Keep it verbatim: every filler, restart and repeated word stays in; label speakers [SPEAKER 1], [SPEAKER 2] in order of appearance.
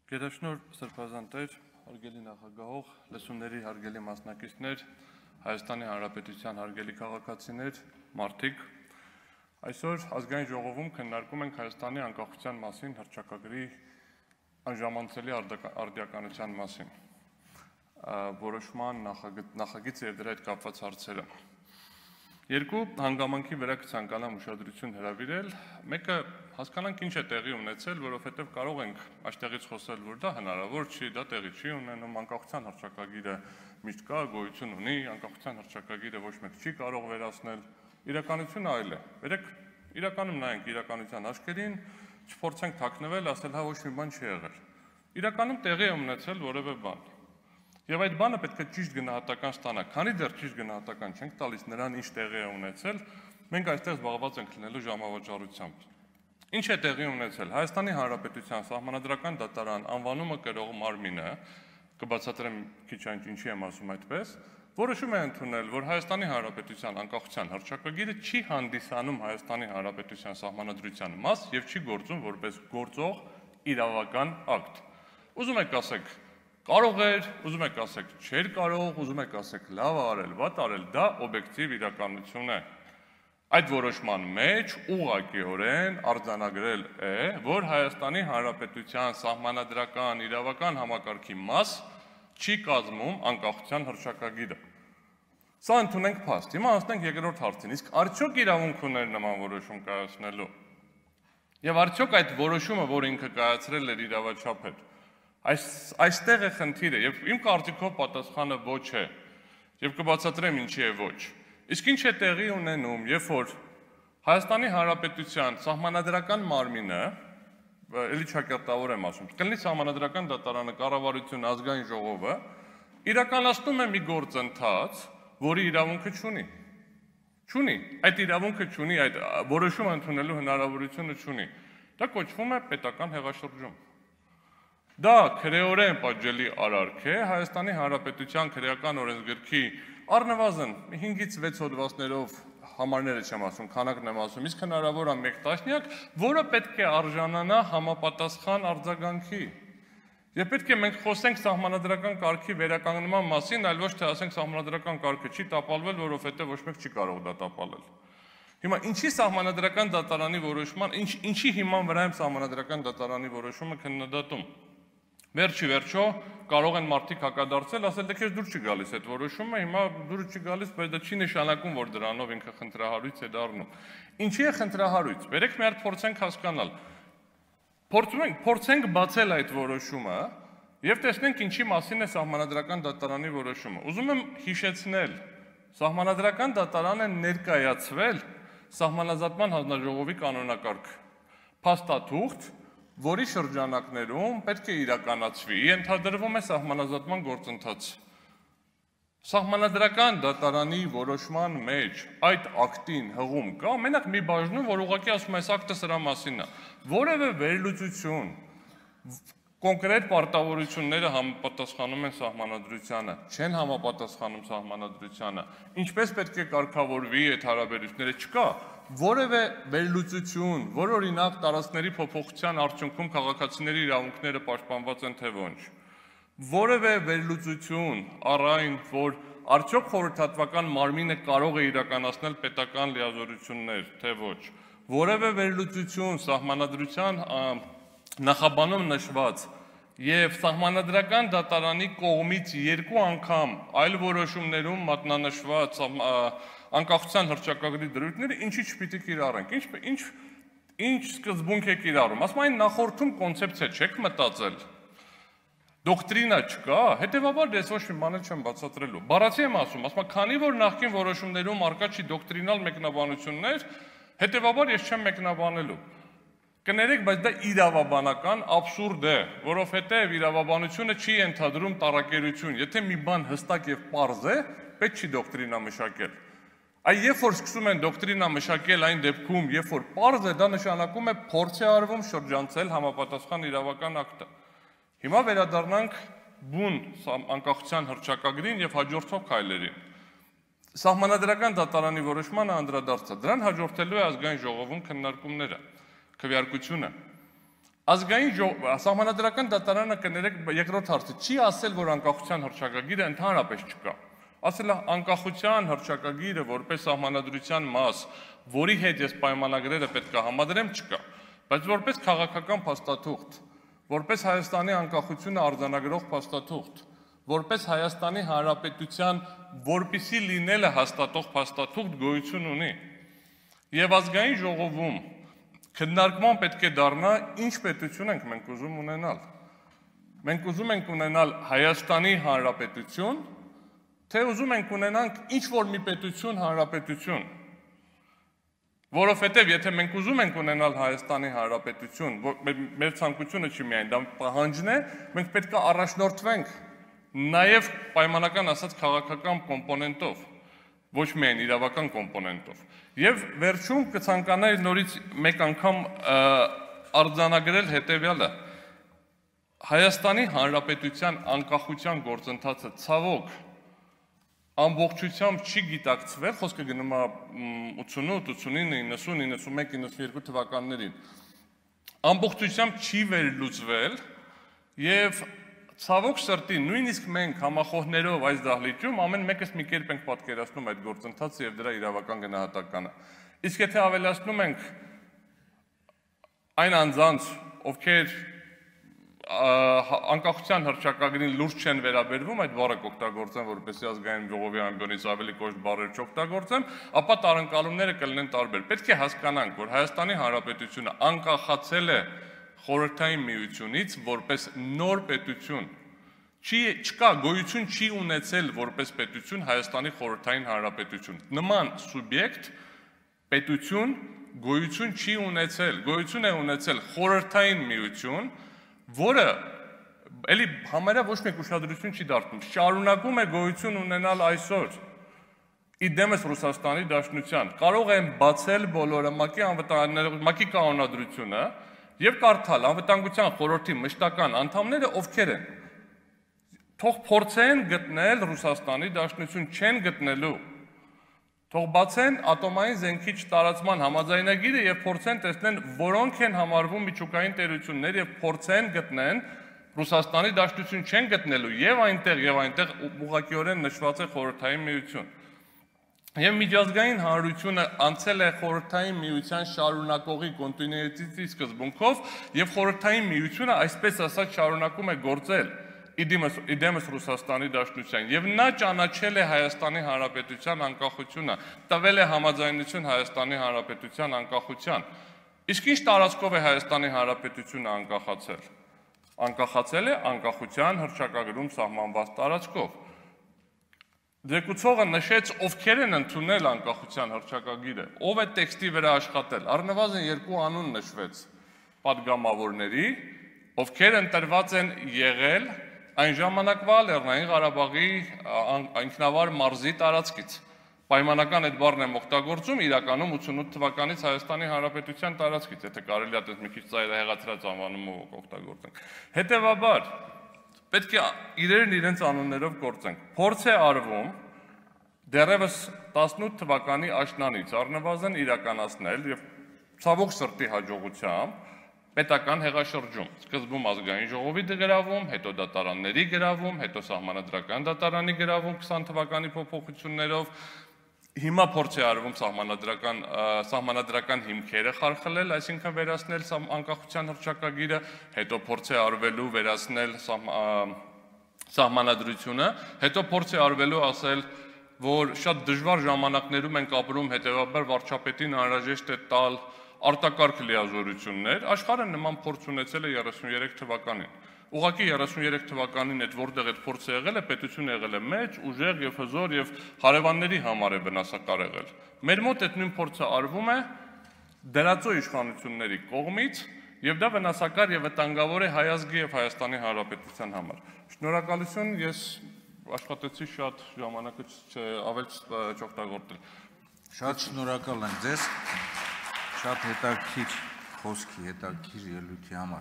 [SPEAKER 1] Գերաշնոր Սրբազան տեր, հարգելի նախագահող, լսումների հարգելի մասնակիցներ, Հայաստանի Հանրապետության հարգելի քաղաքացիներ, մարդիկ, այսօր ազգային ժողովում քննարկում ենք Հայաստանի անկախության մասին հռչակագրի անժամանցելի արդիականության մասին, որոշման նախագիծ եւ դրա հետ կապված հարցերը։ Երկու հանգամանքի վրա կցանկանամ ուշադրություն հրավիրել, մեկը հասկանանք ինչ է տեղի ունեցել, որովհետև կարող ենք այստեղից խոսել, որ դա հնարավոր չի, դա տեղի չի ունենում, անկախության հռչակագիրը միշտ կա, գոյություն ունի, անկախության հռչակագիրը ոչ մեկ չի կարող վերացնել, իրականությունը այլ է։ Բերեք իրականում նայենք իրականության աչքերին, չփորձենք թաքնվել, ասել հա ոչ մի բան չի եղել։ Իրականում տեղի է ունեցել որևէ բան։ Եվ այդ բանը պետք է ճիշտ գնահատական ստանա, քանի դեռ ճիշտ գնահատական չենք տալիս նրան ինչ տեղի է ունեցել, մենք այստեղ զբաղված ենք լինելու ժամավճարությամբ։ Ինչ է տեղի ունեցել։ Հայաստանի Հանրապետության Սահմանադրական դատարան անվանումը կրող մարմինը, կբացատրեմ քիչ այն ինչի եմ ասում այդպես, որոշում է ընդունել, որ Հայաստանի Հանրապետության անկախության հռչակագիրը չի հանդիսանում Հայաստանի Հանրապետության Սահմանադրության մաս եւ չի գործում որպես գործող իրավական ակտ։ Ուզում եք ասեք կարող էր, ուզում եք ասեք չէր կարող, ուզում եք ասեք լավ արել, վատ արել, դա օբյեկտիվ իրականություն է։ Այդ որոշման մեջ ուղղակիորեն արձանագրել է, որ Հայաստանի Հանրապետության սահմանադրական իրավական համակարգի մաս չի կազմում անկախության հռչակագիրը։ Սա ընդունենք փաստ։ Հիմա անցնենք երկրորդ հարցին, իսկ արդյոք իրավունք ուներ նման որոշում կայացնելու։ Եվ արդյոք այդ որոշումը, որ ինքը կայացրել էր իրավաչափ էր, այստեղ է խնդիրը, եւ իմ կարծիքով պատասխանը ոչ է, եւ կբացատրեմ ինչի է ոչ։ Իսկ ինչ է տեղի ունենում, երբ որ Հայաստանի Հանրապետության սահմանադրական մարմինը, էլի ճակատավոր եմ ասում, կլինի սահմանադրական դատարանը, կառավարությունը, ազգային ժողովը, իրականացնում է մի գործընթաց, որի իրավունքը չունի։ Չունի, այդ իրավունքը չունի, այդ որոշումը ընդունելու հնարավորությունը չունի։ Դա կոչվում է պետական հեղաշրջում։ Դա քրեորեն պատժելի արարք է Հայաստանի Հանրապետության քրեական օրենսգրքի առնվազն հինգից վեց հոդվածներով համարները չեմ ասում, քանակն եմ ասում, իսկ հնարավոր է մեկ տասնյակ, որը պետք է արժանանա համապատասխան արձագանքի։ Եվ պետք է մենք խոսենք սահմանադրական կարգի վերականգնման մասին, այլ ոչ թե ասենք սահմանադրական կարգը չի տապալվել, որովհետև ոչ մեկ չի կարող դա տապալել։ Հիմա ինչի սահմանադրական դատարանի որոշման, ինչ, ինչի հիման վրա եմ սահմանադրական դատարանի որոշումը քննադատում։ Վերջի վերջո կարող են մարդիկ հակադարձել, ասել դե քեզ դուր չի գալիս այդ որոշումը, հիմա դուր չի գալիս, բայց դա չի նշանակում, որ դրանով ինքը խնդրահարույց է դառնում։ Ինչի է խնդրահարույց։ Բերեք մի հատ փորձենք հասկանալ։ Փորձում ենք, փորձենք բացել այդ որոշումը եւ տեսնենք ինչի մասին է սահմանադրական դատարանի որոշումը։ Ուզում եմ հիշեցնել, սահմանադրական դատարանը ներկայացվել սահմանազատման հանձնաժողովի կանոնակարգ փաստաթուղթ, որի շրջանակներում պետք է իրականացվի, ենթադրվում է սահմանազատման գործընթաց։ Սահմանադրական դատարանի որոշման մեջ այդ ակտին հղում կա, մենակ մի բաժնում, որ ուղղակի ասում է այս ակտը սրա մասին է, որևէ վերլուծություն, կոնկրետ պարտավորությունները համապատասխանում են սահմանադրությանը, չեն համապատասխանում սահմանադրությանը, ինչպես պետք է կարգավորվի այդ հարաբերությունները, չկա որևէ վերլուծություն, որ օրինակ տարածքների փոփոխության արդյունքում քաղաքացիների իրավունքները պաշտպանված են թե ոչ, որևէ վերլուծություն առ այն, որ արդյոք խորհրդատվական մարմինը կարող է իրականացնել պետական լիազորություններ, թե ոչ, որևէ վերլուծություն սահմանադրության նախաբանում նշված եւ սահմանադրական դատարանի կողմից երկու անգամ այլ որոշումներում մատնանշված անկախության հռչակագրի դրույթները ինչի չպիտի կիրառենք, ինչ ինչ ինչ սկզբունք է կիրառում, ասում այն նախորդում կոնցեպցիա չեք մտածել, դոկտրինա չկա, հետեւաբար ես ոչ մի բան չեմ բացատրելու, բառացի եմ ասում, ասում քանի որ նախկին որոշումներում արկա չի դոկտրինալ մեկնաբանություններ, հետեւաբար ես չեմ մեկնաբանելու։ Կներեք, բայց դա իրավաբանական աբսուրդ է, որովհետև իրավաբանությունը չի ենթադրում տարակերություն, եթե մի բան հստակ եւ պարզ է, պետք չի դոկտրինա մշակել։ Այ երբ որ սկսում են դոկտրինա մշակել այն դեպքում, երբ որ պարզ է, դա նշանակում է փորձ է արվում շրջանցել համապատասխան իրավական ակտը։ Հիմա վերադառնանք բուն անկախության հռչակագրին եւ հաջորդող քայլերին։ Սահմանադրական դատարանի որոշմանը անդրադարձա, դրան հաջորդելու է ազգային ժողովում քննարկումները, քվեարկությունը։ Ազգային Սահմանադրական դատարանը կներեք երկրորդ հարցը չի ասել, որ անկախության հռչակագիրը ընդհանրապես չկա։ Ասել է անկախության հռչակագիրը որպես սահմանադրության մաս, որի հետ ես պայմանագրերը պետք է համադրեմ, չկա, բայց որպես քաղաքական փաստաթուղթ, որպես Հայաստանի անկախությունը արձանագրող փաստաթուղթ, որպես Հայաստանի Հանրապետության որպիսի լինելը հաստատող փաստաթուղթ գոյություն ունի։ Եվ ազգային ժողովում քննարկման պետք է դառնա ինչ պետություն ենք մենք ուզում ունենալ։ Մենք ուզում ենք ունենալ Հայաստանի Հանրապետություն, թե ուզում ենք ունենանք ինչ-որ մի պետություն հանրապետություն։ Որովհետև եթե մենք ուզում ենք ունենալ Հայաստանի Հանրապետություն, մեր ցանկությունը չի միայն դա պահանջն է, մենք պետք է առաջնորդվենք նաև պայմանական ասած քաղաքական կոմպոնենտով, ոչ միայն իրավական կոմպոնենտով։ Եվ վերջում կցանկանայի նորից մեկ անգամ արձանագրել հետևյալը. Հայաստանի Հանրապետության անկախության գործընթացը ցավոք ամբողջությամբ չի գիտակցվել, խոսքը գնում է ութսունութ, ութսունինը, իննսուն, իննսունմեկ, իննսունյոթ թվականներին, ամբողջությամբ չի վերլուծվել եւ ցավոք սրտի նույնիսկ մենք համախոհներով այս դահլիճում ամեն մեկս մի կերպ ենք պատկերացնում այդ գործընթացը եւ դրա իրավական գնահատականը։ Իսկ եթե ավելացնում ենք այն անձանց, ովքեր անկախության հռչակագրին լուրջ չեն վերաբերվում, այդ բառը կօգտագործեմ, որպեսզի ազգային ժողովի ամբիոնից ավելի կոշտ բառեր չօգտագործեմ, ապա տարընկալումները կլինեն տարբեր։ Պետք է հասկանանք, որ Հայաստանի Հանրապետությունը անկախացել է Խորհրդային Միությունից որպես նոր պետություն։ Չի չկա գոյություն չի ունեցել որպես պետություն Հայաստանի Խորհրդային Հանրապետություն։ Նման սուբյեկտ պետություն գոյություն չի ունեցել, գոյություն է ունեցել Խորհրդային Միություն, որը էլի համարյա ոչ մեկ ուշադրություն չի դարձնում, շարունակում է գոյություն ունենալ այսօր իդեմս Ռուսաստանի Դաշնության, կարող են բացել բոլորը ՄԱԿ-ի կանոնադրությունը եւ կարդալ անվտանգության խորհրդի մշտական անդամները ովքեր են։ Թող փորձեն գտնել Ռուսաստանի Դաշնություն, չեն գտնելու։ Թող բացեն ատոմային զենքի չտարածման համաձայնագիրը եւ փորձեն տեսնեն որոնք են համարվում միջուկային տերություններ եւ փորձեն գտնեն Ռուսաստանի Դաշնություն, չեն գտնելու եւ այնտեղ եւ այնտեղ ուղղակիորեն նշված է Խորհրդային Միություն։ Եվ միջազգային հանրությունը անցել է Խորհրդային Միության շարունակողի կոնտինուիտետի սկզբունքով եւ Խորհրդային Միությունը այսպես ասած շարունակում է գործել իդեմս Ռուսաստանի Դաշնության եւ նա ճանաչել է Հայաստանի Հանրապետության անկախությունը, տվել է համաձայնություն Հայաստանի Հանրապետության անկախության։ Իսկ ինչ տարածքով է Հայաստանի Հանրապետությունը անկախացել։ Անկախացել է անկախության հռչակագրում սահմանված տարածքով։ Ձեկուցողը նշեց ովքեր են ընդունել անկախության հռչակագիրը, ով է տեքստի վրա աշխատել, առնվազն երկու անուն նշվեց պատգամավորների, ովքեր ընտրված են եղել այն ժամանակվա Լեռնային Ղարաբաղի ինքնավար մարզի տարածքից։ Պայմանական այդ բառն եմ օգտագործում իրականում ութսունութ թվականից Հայաստանի Հանրապետության տարածքից, եթե կարելի է այդպես մի քիչ ծայրահեղացրած անվանումով օգտագործենք։ Հետևաբար պետք է իրերն իրենց անուններով գործենք։ Փորձ է արվում դեռևս տասնութ թվականի աշնանից առնվազն իրականացնել եւ ցավոք սրտի հաջողությամբ պետական հեղաշրջում, սկզբում ազգային ժողովի գրավում, հետո դատարանների գրավում, հետո սահմանադրական դատարանի գրավում քսան թվականի փոփոխություններով, հիմա փորձ է արվում սահմանադրական սահմանադրական հիմքերը խարխլել, այսինքն վերացնել անկախության հռչակագիրը, հետո փորձ է արվելու վերացնել սահմանադրությունը, հետո փորձ է արվելու ասել, որ շատ դժվար ժամանակներում ենք ապրում, հետևաբար վարչապետին անհրաժեշտ է տալ արտակարգ լիազորություններ, աշխարհը նման փորձ ունեցել է երեսուններեք թվականին։ Ուղղակի երեսուններեք թվականին այդ որտեղ այդ փորձը եղել է, պետությունը եղել է մեծ, ուժեղ եւ հզոր եւ հարևանների համար է վնասակար եղել։ Մեր մոտ այդ նույն փորձը արվում է դրածո իշխանությունների կողմից եւ դա վնասակար եւ վտանգավոր է հայ ազգի եւ Հայաստանի Հանրապետության համար։ Շնորհակալություն, ես աշխատեցի շատ ժամանակը ավել չօգտագործել։
[SPEAKER 2] Շատ շնորհակալ եմ ձեզ։ Շատ հետաքրքիր խոսքի, հետաքրքիր ելույթի համար։